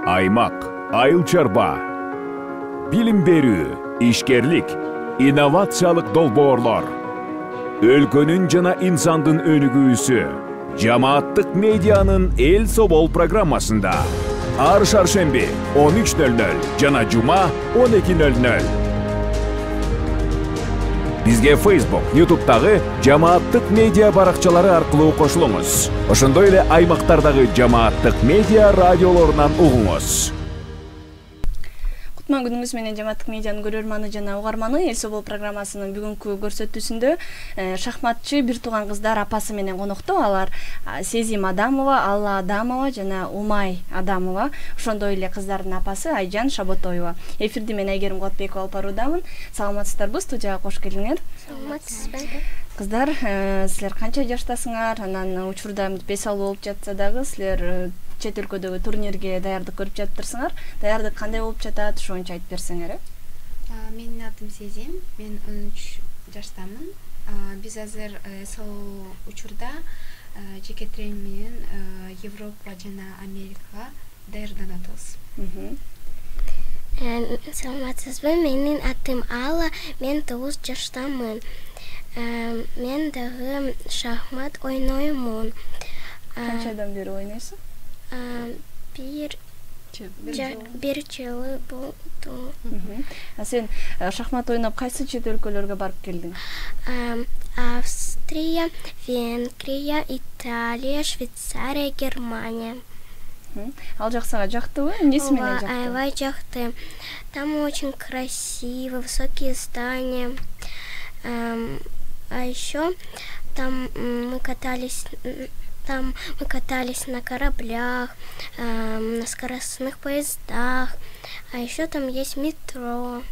аймак, айыл чарба, билим берүү, ишкерлик, инновациялык долбоорлор, өлкөнүн жана инсандын өнүгүүсү жамааттык медианын Эл Собол программасында ар шаршемби 13:00 жана жума 12:00. Бизге Facebook, YouTube'дагы жамааттык медиа баракчалары аркылуу кошулуңуз. Ошондой эле аймактардагы жамааттык медиа радиолорунан угуңуз. Кутман күнүңүз менен жамааттык медианын көрөрманы жана угарманы. Эл Собол программасынын бүгүнкү көрсөтүүсүндө шахматчы бир тууган кыздар апасы менен конокто. Алар Сезим Адамова, Алла Адамова жана Умай Адамова. Ошондой эле кыздардын апасы Айжан Шаботоева. Эфирди мен Айгерим Кулатбекова алып баруудамын. Саламатсыздарбы? Студияга кош келиңер. Саламатсызбы. Кыздар, силер канча жаштасыңар? Анан учурда бес алуу болуп жатса дагы силер чет өлкөдөгү турнирге даярдык көрүп жатырсыңар. Даярдык кандай болуп жатат? Ошончо айтып берсеңер. Менин атым Сезим, мен 13 жаштамын. Биз азыр сол учурда жеке тренинг менен Европа жана Америкага даярданып атабыз. Саламатсызбы, менин атым Алла, мен 9 жаштамын. Мен дагы шахмат ойноймун. Канчадан бери ойнойсуң? Бир жыл болду. Сен шахмат ойноп кайсы чет өлкөлөргө барып келдиң? Австрия, Венгрия, Италия, Швейцария, Германия. Ал жак сага жактыбы? Эмнеси менен жакты? Аябай жакты. Там очень красиво, высокие здания. А еще там мы катались на кораблях, на скоростных поездах, а еще там есть метро,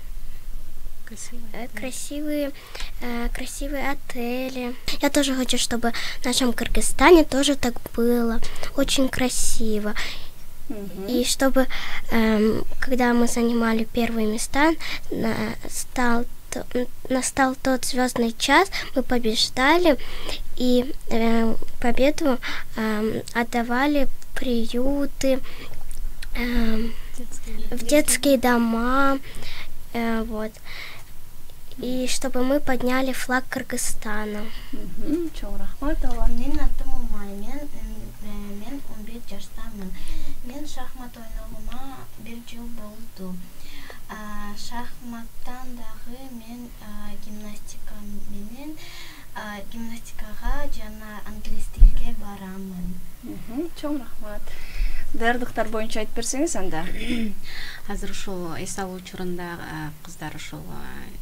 красивые отели. Я тоже хочу, чтобы в нашем Кыргызстане тоже так было, очень красиво. И чтобы, когда мы занимали первые места, настал тот звездный час, мы побеждали, и победу отдавали приюты, в детские дома, вот. И чтобы мы подняли флаг Кыргызстана. Чоң рахмат. Менин атым Умай, мен 11 жаштамын. Мен шахмат ойногума 1 жыл болду. Шахматтан дагы мен гимнастикага жана англис тилге барамын. Чоң рахмат. Даярдыктар боюнча айтып берсеңиз анда. Азыр ушул эс алуу учурунда кыздар ушул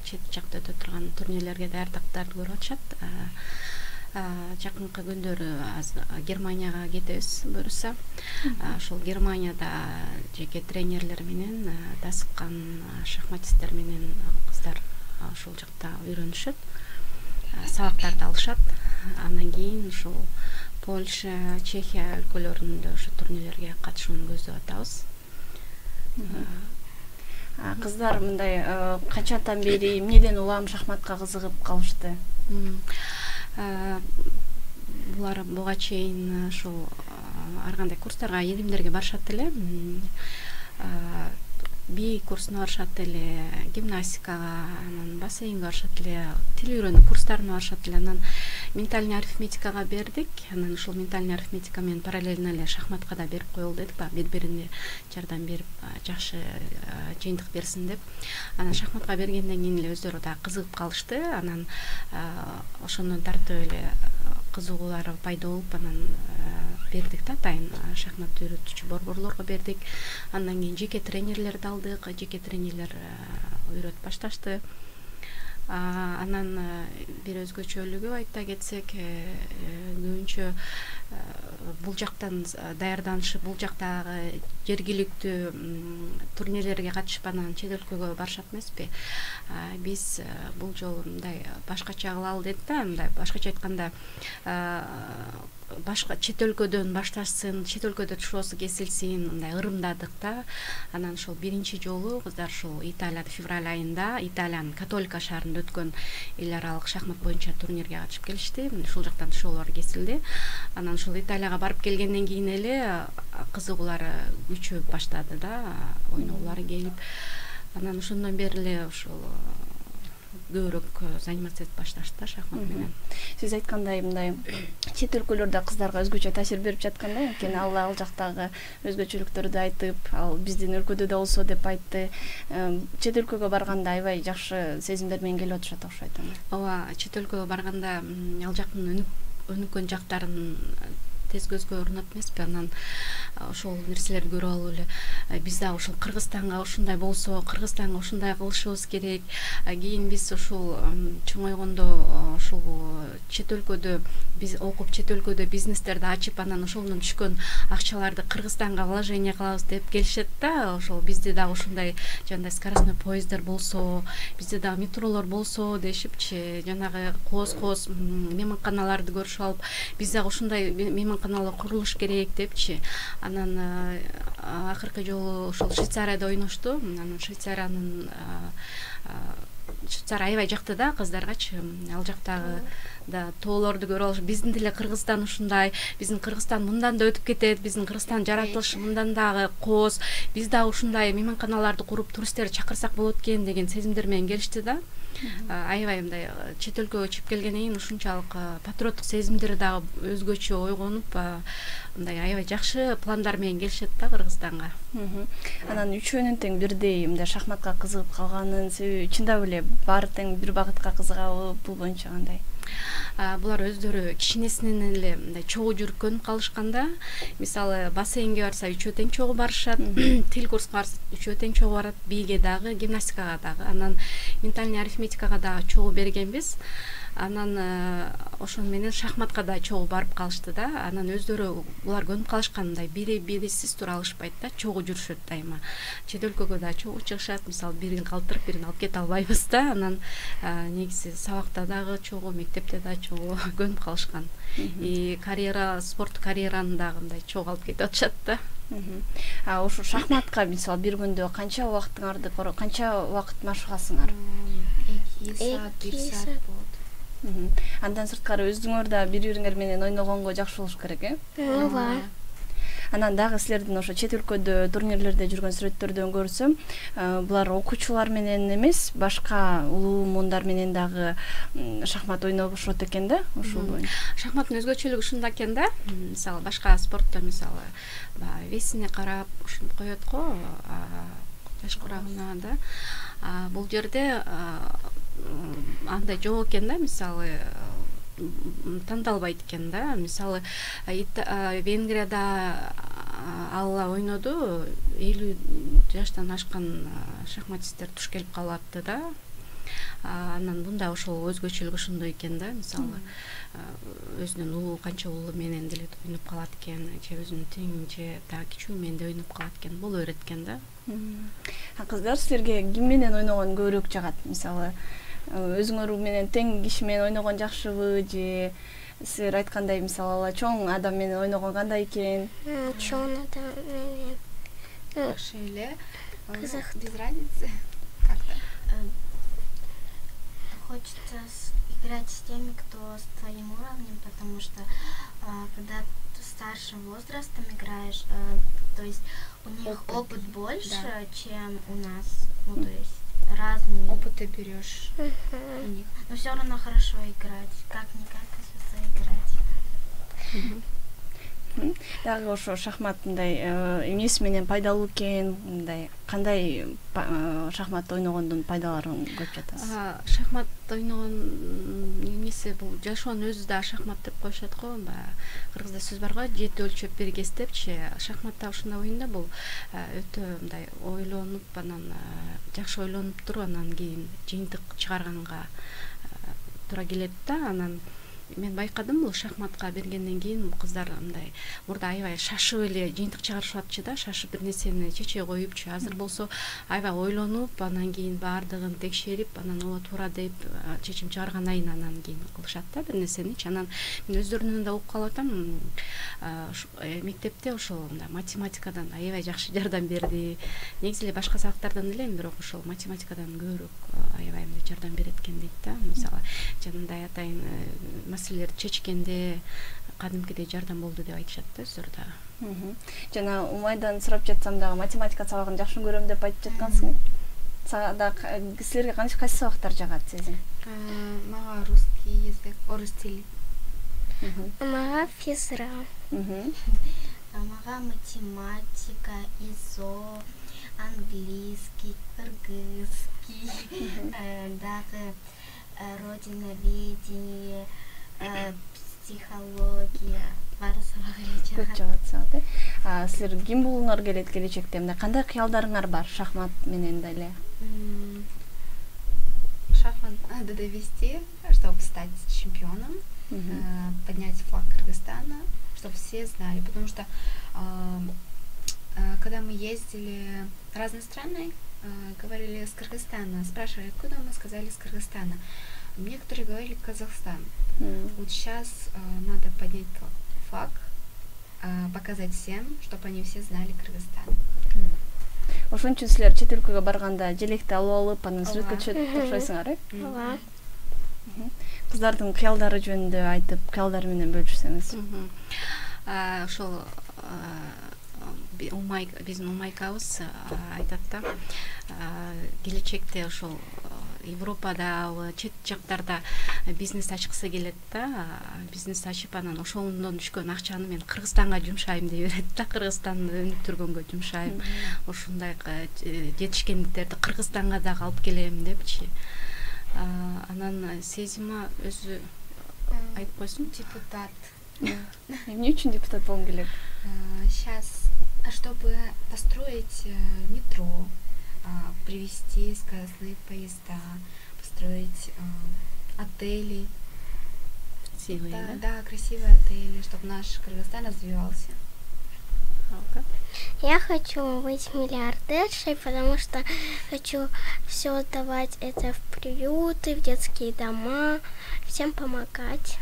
чет жакта өтө турган турнирлерге даярдыктарды көрүп атышат. Жакынкы күндөрү Германияга кетебиз буюрса. Ошол Германияда жеке тренерлер менен дасыккан шахматисттер менен кыздар ошол жакта үйрөнүшөт. Сабактарды алышат. Андан кийин ушул Польша, Чехия өлкөлөрүндө ошо турнирлерге катышууну көздөп атабыз. Кыздар мындай качандан бери эмнеден улам шахматка кызыгып калышты? Булар буга чейин ушул ар кандай курстарга, илимдерге барышат эле. Би курсуна барышат эле, гимнастикага, анан бассейнге барышат эле, тил үйрөнүү курстарына барышат эле. Анан ментальный арифметикага бердик. Анан ушул ментальный арифметика менен параллельно эле шахматка да берип коелу дедик, бири-бирине жардам берип, жакшы жыйынтык берсин деп. Анан шахматка бергенден кийин эле өздөрү да кызыгып калышты. Анан ошондон тартып эле кызыгуулары пайда болуп, анан бердик да атайын шахмат үйрөтүүчү борборлорго бердик. Андан кийин жеке тренерлерди алдык, жеке тренерлер үйрөтүп башташты. Анан бир өзгөчөлүгү айта кетсек, көбүнчө бул жактан даярданышып, бул жактагы жергиликтүү турнирлерге катышып, анан чет өлкөгө барышат эмеспи. Биз бул жолу мындай башкача кылалы дедик да, мындай башкача айтканда башка чет өлкөдөн башташсын, чет өлкөдө тушоосу кесилсин, мындай ырымдадык да. Анан ошол биринчи жолу кыздар ушул Италияда февраль айында Италиянын Католика шаарында өткөн эл аралык шахмат боюнча турнирге катышып келишти. Ушул жактан тушоолор кесилди. Анан ушул Италияга барып келгенден кийин эле кызыгуулары күчөп баштады да, ойногулары келип, анан ошондон бери эле ушул көбүрөөк заниматься этип башташты да шахмат менен. Сиз айткандай мындай чет өлкөлөрдө кыздарга өзгөчө таасир берип жаткан да, анткени ал жактагы өзгөчөлүктөрдү айтып, ал биздин өлкөдө да болсо деп айтты. Чет өлкөгө барганда аябай жакшы сезимдер менен келип атышат окшойт. Ооба, чет өлкөгө барганда ал жактын өнүккөн жактарын тез көзгө урунат эмеспи, анан ошол нерселерди көрүп алып эле биз да ушул Кыргызстанга ушундай болсо, Кыргызстанга ушундай кылышыбыз керек. Кийин биз ушул чоңойгондо ушул чет өлкөдө биз окуп, чет өлкөдө бизнестерди ачып, анан ошондон түшкөн акчаларды Кыргызстанга вложение кылабыз деп келишет да. Ошол бизде дагы ушундай жандай скоростной поезддер болсо, бизде дагы метролор болсо дешипчи, жанагы кооз мейманканаларды көрүшүп алып, биз дагы ушундай мейманканалар курулуш керек депчи. Анан акыркы жолу ошол Швейцарияда ойношту. Анан Швейцария аябай жакты да кыздаргачы. Ал жактагы да тоолорду көрүп алыш. Биздин деле Кыргызстан ушундай, биздин Кыргызстан мындан да өтүп кетет, биздин Кыргызстан жаратылышы мындан дагы кооз, биз дагы ушундай мейманканаларды куруп туристтерди чакырсак болот экен деген сезимдер менен келишти да. Аябай мындай чет өлкөгө чыгып келгенден кийин ушунчалык патриоттук сезимдери дагы өзгөчө ойгонуп, мындай аябай жакшы пландар менен келишет да Кыргызстанга. Анан үчөөнүн тең бирдей мындай шахматка кызыгып калганын себеби чындап эле баары тең бир багытка кызыгабы, бул боюнча кандай? Булар өздөрү кичинесинен эле мындай чогуу жүргөнүп калышканда, мисалы бассейнге барса үчөө тең чогуу барышат, тил курсуна барса үчөө тең чогуу барат, бийге дагы, гимнастикага дагы, анан ментальный арифметикага дагы чогуу бергенбиз. Анан ошон менен шахматка да чогуу барып калышты да. Анан өздөрү булар көнүп калышкандай бирисиз тура алышпайт да, чогуу жүрүшөт дайыма. Чет өлкөгө да чогуу чыгышат, мисалы бирин калтырып бирин алып кете албайбыз да. Анан негизи сабакта дагы чогуу, мектепте да чогуу көнүп калышкан. Спорт карьераны дагы мындай чогуу алып кетип атышат да. Ошо шахматка мисалы бир күндө канча убактыңарды, канча убакыт машыгасыңар? 2 саат, 1 саат болот. Андан сырткары өзүңөр да бири-бириңер менен ойногонго жакшы болуш керек, Ооба. Анан дагы силердин ошо чет өлкөдө турнирлерде жүргөн сүрөттөрдөн көрсөм, булар окуучулар менен эмес, башка улуу муундар менен дагы шахмат ойношот экен да, ушул боюнча. Шахматтын өзгөчөлүгү ушунда экен да. Мисалы башка спортто мисалы весине карап ушинтип коет го, таш курагына да. Бул жерде андай жок экен да, мисалы тандалбайт экен да. Мисалы Венгрияда алла ойноду, 50 жаштан ашкан шахматисттер туш келип калатты да. Анан мында ошол өзгөчөлүгү ошондой экен да. Мисалы өзүнүн улуу, канча улуу менен деле ойноп калат экен, же өзүнүн тең, же дагы кичүү менен да ойноп калат экен, боло берет экен да. Кыздар, силерге ким менен ойногон көбүрөөк жагат? Мисалы өзүңөр менен тең киши менен ойногон жакшыбы, же силер айткандай мисалы чоң адам менен ойногон кандай экен? Чоң адам менен Жакшы эле. кызык. Без разницы как-то. Хочется играть с теми, кто с твоим уровнем, потому что когда ты старшим возрастом играешь, то есть у них опыт больше, чем у нас, ну то есть разные. Опыт ты берешь у них. Но все равно хорошо играть, как-никак играть. Дагы ошо шахмат мындай эмнеси менен пайдалуу экен, мындай кандай шахмат ойногондун пайдаларын көрүп жатасыз? Шахмат ойногон эмеси бул жашоонун өзү да шахмат деп коюшат го. Кыргызда сөз бар го, 7 өлчөп 1 кес депчи. Шахматта ушундай оюн да, бул өтө мындай ойлонуп, анан жакшы ойлонуп туруп, анан кийин жыйынтык чыгарганга туура келет да. Анан мен байкадым, бул шахматка бергенден кийин кыздар мындай мурда аябай шашып эле жыйынтык чыгарышатчы да, шашып бир нерсени чече коюпчу. Азыр болсо аябай ойлонуп, анан кийин баардыгын текшерип, анан ооба туура деп чечим чыгаргандан кийин анан кийин кылышат да бир нерсеничи. Анан мен өздөрүнөн да угуп калып атам, мектепте ошол математикадан аябай жакшы жардам берди. Негизи эле башка сабактардан эле, бирок ошол математикадан көбүрөөк аябай жардам берет экен дейт да. Мисалы жанагындай атайын маселелерди чечкенде кадимкидей жардам болду деп айтышат да өздөрү дагы. Жана Умайдан сурап жатсам дагы математика сабагын жакшы көрөм деп айтып жаткансың. Силерге кайсы сабактар жагат сезим? Мага русский язык, орус тили. Мага физра. Мага математика, ИЗО, английский, кыргызский, дагы родиноведение, психология, баары сабак жагат. Силер ким болгуңар келет келечекте? Мындай кандай кыялдарыңар бар шахмат менен деле? Шахмат надо довести, чтобы стать чемпионом, поднять флаг Кыргызстана, чтобы все знали, потому что когда мы ездили в разные страны, говорили с Кыргызстана, спрашивали, откуда, мы сказали с Кыргызстана. Некоторые говорили Казахстан. Вот сейчас надо поднять флаг, показать всем, чтобы они все знали Кыргызстан. Ошон үчүн силер чет өлкөгө барганда желекти алып алып, анан сүрөткө түшүп тапшырасыңар, э? Ооба. Кыздардын кыялдары жөнүндө айтып, кыялдары менен бөлүшсөңүз. Ошол биздин Умайкабыз айтат да, келечекте ошол Европада, чет жактарда бизнес ачкысы келет да, бизнес ачып анан ошондон түшкөн акчаны мен Кыргызстанга жумшайм деп берет да, Кыргызстанды өнүктүргөнгө жумшайм. Ошондой жетишкендиктерди Кыргызстанга дагы алып келем депчи. Анан Сезима өзү айтып койсун. Депутат. Эмне үчүн депутат болгум келет? Сейчас, чтобы построить метро, привезти скоростные поезда, построить отели. Красивые, да, красивые отели, чтобы наш Кыргызстан развивался. Я хочу быть миллиардершей, потому что хочу все отдавать это в приюты, в детские дома, всем помогать.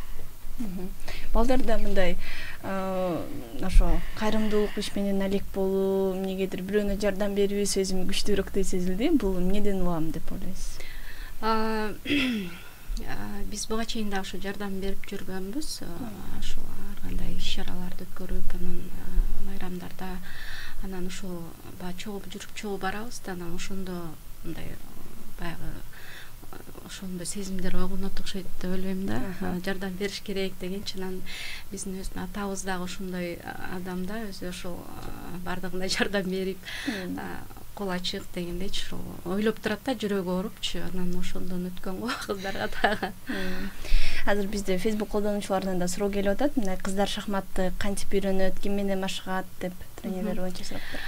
Балдарда мындай ошо кайрымдуулук иш менен алек болуу, эмнегедир бирөөнө жардам берүү сезими күчтүүрөөк сезилди. Бул эмнеден улам деп ойлойсуз? Биз буга чейин да ошо жардам берип жүргөнбүз. Ошо ар кандай иш-чараларды өткөрүп, анан байрамдарда, анан ошо баягы чогуу жүрүп чогуу барабыз да, анан ошондо мындай баягы ошондой сезимдер ойгонот окшойт деп ойлойм да. Жардам бериш керек дегенчи, анан биздин өзүнүн атабыз дагы ошондой адам да, өзү ошол бардыгына жардам берип, кол ачык дегендейчи, ошол ойлоп турат да, жүрөгү оорупчу, анан ошондон өткөн го кыздарга дагы. Азыр бизде Facebook колдонуучулардан да суроо келип атат. Мындай кыздар шахматты кантип үйрөнөт, ким менен машыгат деп тренерлер боюнча сураптыр.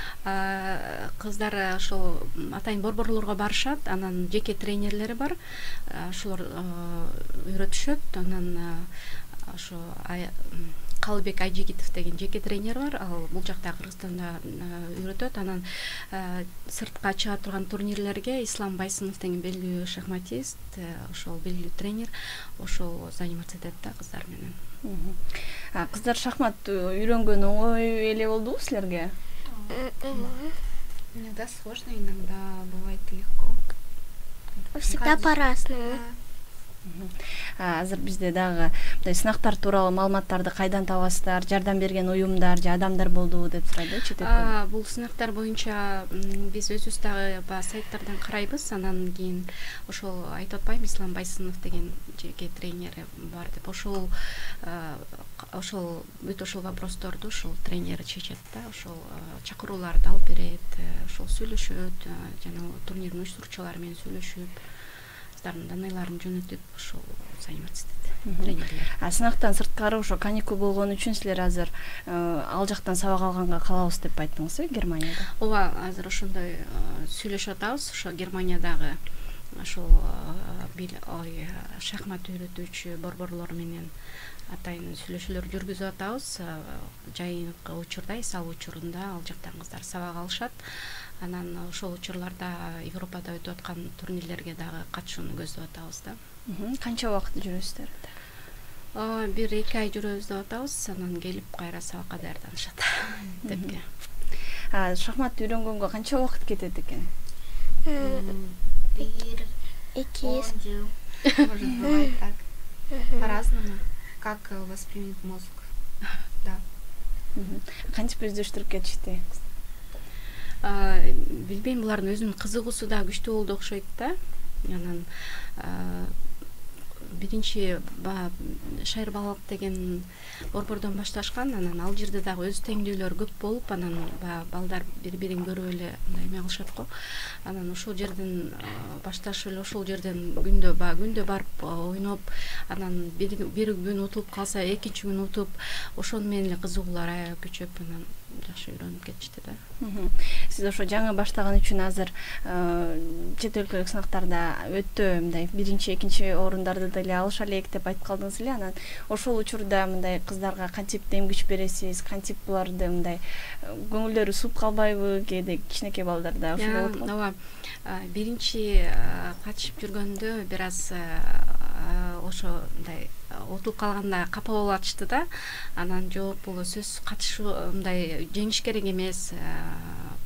Кыздар ошол атайын борборлорго барышат, анан жеке тренерлери бар. Ошолор үйрөтүшөт. Анан ошо Калыбек Айжигитов деген жеке тренер бар. Ал бул жакта Кыргызстанда үйрөтөт. Анан сыртка чыга турган турнирлерге Ислам Байсынов деген белгилүү шахматист, ошол белгилүү тренер, ошол заниматься этет да кыздар менен. Кыздар шахмат үйрөнгөн оңой эле болдубу силерге? Иногда сложно, иногда бывает легко. Всегда по-разному. Азыр бизде дагы мындай сынактар тууралуу маалыматтарды кайдан табасыздар? Жардам берген уюмдар же адамдар болдубу деп сурайды чет. Бул сынактар боюнча биз өзүбүз дагы баягы сайттардан карайбыз, анан кийин ошол айтып атпайбы, Ислам Байсынов деген жеке тренери бар деп, ошол бүт ошол вопросторду ошол тренери чечет да, ошол чакырууларды алып берет, ошол сүйлөшөт, жана турнирдин уюштуруучулары менен сүйлөшүп, даныйларын жөнөтүп, ошол заниматься этет тренерлер. Сынактан сырткары ошо каникул болгон үчүн силер азыр ал жактан сабак алганга калабыз деп айттыңыз, Германияда? Ооба, азыр ошондой сүйлөшүп атабыз, ошо Германиядагы ошол шахмат үйрөтүүчү борборлор менен атайын сүйлөшүүлөр жүргүзүп атабыз. Жайынкы учурда, эсал учурунда ал жактан кыздар сабак алышат. Анан ошол учурларда Европада өтүп аткан турнирлерге дагы катышууну көздөп атабыз да. Канча убакыт жүрөсүздөр? 1-2 ай жүрөбүз деп атабыз, анан келип кайра сабакка даярданышат депке. Шахмат үйрөнгөнгө канча убакыт кетет экен? 1-2 Может, бывает так. По-разному. как воспримет мозг. Да. Кантип өздөштүрүп кетишти? Билбейм, булардын өзүнүн кызыгуусу да күчтүү болду окшойт да. Анан биринчи шайыр балалык деген борбордон башташкан, анан ал жерде дагы өз теңдүүлөр көп болуп, анан балдар бири-бирин көрүп эле мындай эме кылышат го. Анан ошол жерден башташып эле ошол жерден күндө барып ойноп, анан бир күн утулуп калса, экинчи күн утуп, ошону менен эле кызыгуулар аябай күчөп, анан жакшы үйрөнүп кетишти да. Сиз ошо жаңы баштаган үчүн азыр чет өлкөлүк сынактарда өтө мындай биринчи, экинчи орундарды деле алыша элек деп айтып калдыңыз эле. Анан ошол учурда мындай кыздарга кантип дем күч бересиз, кантип буларды мындай көңүлдөрү сууп калбайбы? Кээде кичинекей балдарда ошол болот го. Ооба. Биринчи катышып жүргөндө бир аз ошо мындай отулуп калганда капа болуп атышты да. Анан жок, бул сөз катышуу мындай жеңиш керек эмес,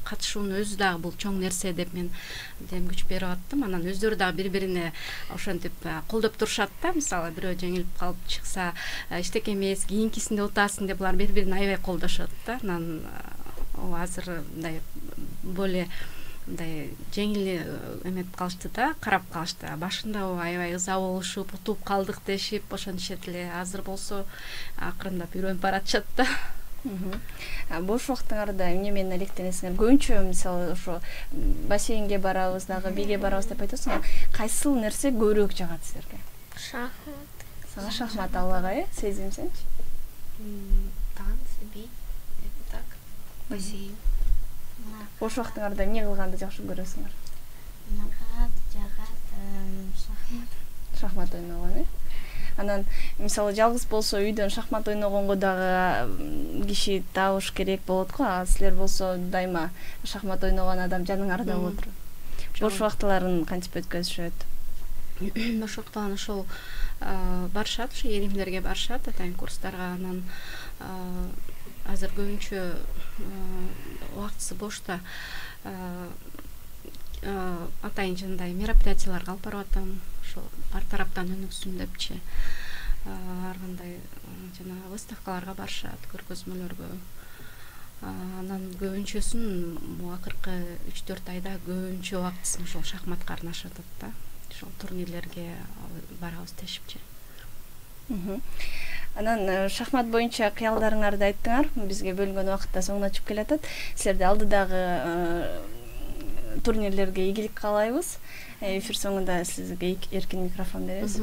катышуунун өзү дагы бул чоң нерсе деп мен дем күч берип аттым. Анан өздөрү дагы бири-бирине ошентип колдоп турушат да. Мисалы бирөө жеңилип калып чыкса, эчтеке эмес, кийинкисинде утасың деп булар бири-бирин аябай колдошот да. Анан азыр мындай более мындай жеңил эметип калышты да, карап калышты. Башында аябай ыза болушуп, утуп калдык дешип ошентишет эле. Азыр болсо акырындап үйрөнүп баратышат да. Бош убактыңарда эмне менен алектенесиңер? Көбүнчө мисалы ошо бассейнге барабыз дагы, биге барабыз деп айтасыңар. Кайсыл нерсе көбүрөөк жагат силерге? Шахмат. Сага шахмат аллага, Сезим сенчи? Танцы, би, это так. Бассейн. Бош убактыңарда эмне кылганды жакшы көрөсүңөр? Мага жагат шахмат. Шахмат ойногон, Анан мисалы жалгыз болсо үйдөн шахмат ойногонго дагы киши табыш керек болот го. А силер болсо дайыма шахмат ойногон адам жаныңарда болот турат. Бош убактыларын кантип өткөзүшөт? Бош убактыларын ошол барышат, ушу эримдерге барышат, атайын курстарга. Анан азыр көбүнчө убактысы бошто атайын жандай мероприятияларга алып барып атам. Ошо ар тараптан өнүксүн депчи. Ар кандай жана выставкаларга барышат, көргөзмөлөргө. Анан көбүнчөсүн акыркы 3-4 айда көбүнчө убактысын ошол шахматка арнашат да. Ошол турнирлерге барабыз дешипчи. Анан шахмат боюнча кыялдарыңарды айттыңар. Бизге бөлүнгөн убакыт да соңуна чыгып келатат. Силерде алдыдагы турнирлерге ийгилик каалайбыз. Эфир соңунда сизге эркин микрофон беребиз.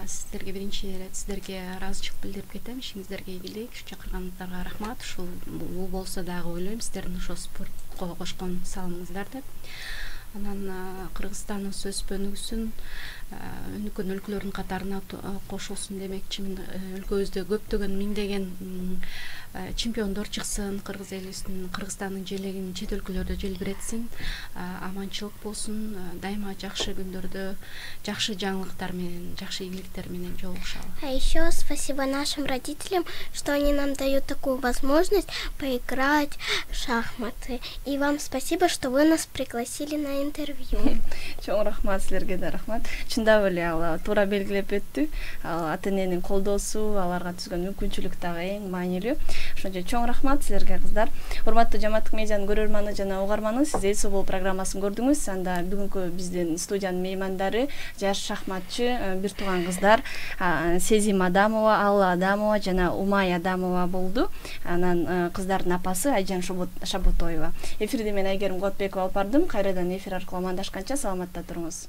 Сиздерге биринчи ирет сиздерге ыраазычылык билдирип кетем. Ишиңиздерге ийгилик, чакырганыңыздарга рахмат. Ушул бул болсо дагы ойлойм сиздердин ошо спортко кошкон салымыңыздар деп. Анан Кыргызстандын өнүгүсүн, өнүккөн өлкөлөрдүн катарына кошулсун демекчимин. Өлкөбүздө көптөгөн миңдеген чемпиондор чыксын, кыргыз элибиздин, Кыргызстандын желегин чет өлкөлөрдө желбиретсин, аманчылык болсун, дайыма жакшы күндөрдө жакшы жаңылыктар менен, жакшы ийгиликтер менен жолугушалы. А еще спасибо нашим родителям, что они нам дают такую возможность поиграть в шахматы. И вам спасибо, что вы нас пригласили на интервью. Чоң рахмат, силерге да рахмат. Чындап эле ал туура белгилеп өттү. Ата эненин колдоосу, аларга түзгөн мүмкүнчүлүк дагы эң маанилүү. Ошончо чоң рахмат силерге кыздар. Урматтуу Жамааттык медианын көрөрманы жана угарманы, сиз Эл Собол программасын көрдүңүз. Анда бүгүнкү биздин студиянын меймандары жаш шахматчы бир тууган кыздар Сезим Адамова, Алла Адамова жана Умай Адамова болду. Анан кыздардын апасы Айжан Шаботоева. Эфирди мен Айгерим Котбекова алып бардым. Кайрадан эфир аркылуу амандашканча саламатта туруңуз.